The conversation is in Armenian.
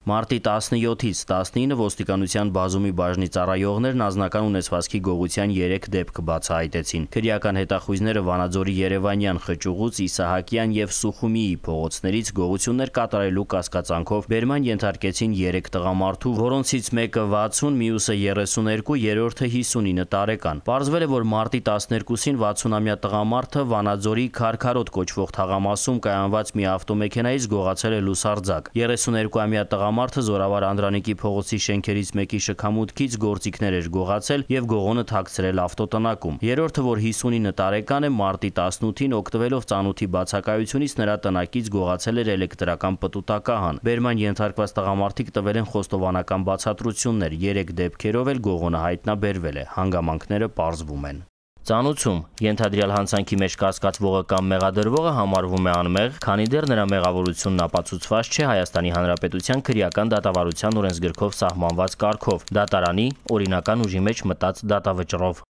Մարտի 17-ից 19 ոստիկանության բազումի բաժնի ծառայողներն անձնական ունեցվածքի գողության 3 դեպք բացահայտեցին։ Քրեական հետախույզները Վանաձորի Երևանյան, Խճուղուց, Իսահակյան եւ Սուխումիի փողոցներից գողություններ կատարելու կասկածանքով բերման ենթարկեցին 3 տղամարդու, որոնցից մեկը 60, մյուսը 32, երրորդը 59 տարեկան։ Պարզվել է, որ մարտի 12-ին 60-ամյա տղամարդը Վանաձորի Քարքարոտ կոչվող թաղամասում կայանված մի ավտոմեքենայից գողացել է լուսարձակ։ 32-ամյա տղամարդը Զորավար Անդրանիկի փողոցի շենքերից մեկի շքամուտքից գործիքներ էր գողացել եւ գողոնը թաքցրել ավտոտնակում։ Երրորդը, որ 59 տարեկան է, մարտի 18-ին օգտվելով ծանոթի բացակայությունից նրա տնակից գողացել էր էլեկտրական պտուտակահան։ Բերման ենթարկված տղամարդիկ տվել են խոստովանական բացատրություններ, 3 դեպքերով էլ գողոնը հայտնաբերվել է, հանգամանքները պարզվում են։ Ծանուցում ենթադրյալ հանցանքի մեջ կասկածվողը կամ մեղադրվողը համարվում է անմեղ, քանի դեռ նրա մեղավորությունն ապացուցված չէ Հայաստանի Հանրապետության քրեական դատավարության օրենսգրքով սահմանված կարգով՝ դատարանի օրինական ուժի մեջ մտած դատավճռով։